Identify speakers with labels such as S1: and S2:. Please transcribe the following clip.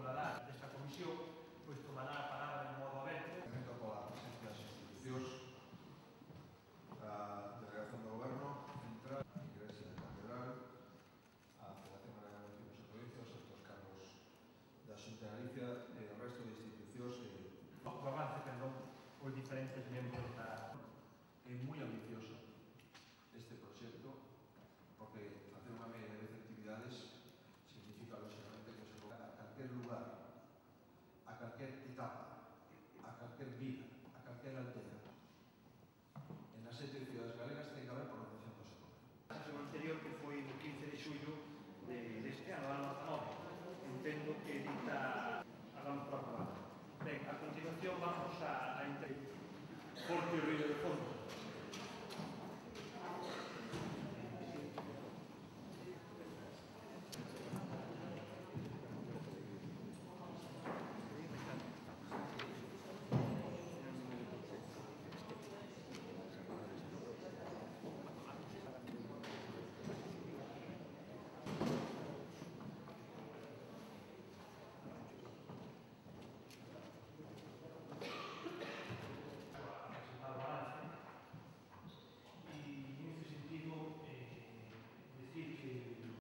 S1: colaborador desta comisión, pois tomará a palabra de modo aberto.
S2: Pola presencia das institucións, a Delegación do Goberno Central, a Igrexa da Catedral, a Federación Galega de Municipios e Provincias, os altos cargos da Xunta de Galicia e o resto de institucións que...
S1: O avance, perdón, os diferentes membros da...
S2: É moi ambicioso este proxecto, porque facer unha media de 10 actividades significa, lógicamente, que se toca a calquer lugar, a calquer etapa, a calquer vida, a calquer aldea. En as 7 cidades galegas ten que haber programación do sector.
S1: A sesión anterior, que foi o 15 de xullo deste ano, ano 19, entendo que dicta a gran proclamada. Ben, a continuación vamos a Forte Río de Fondo.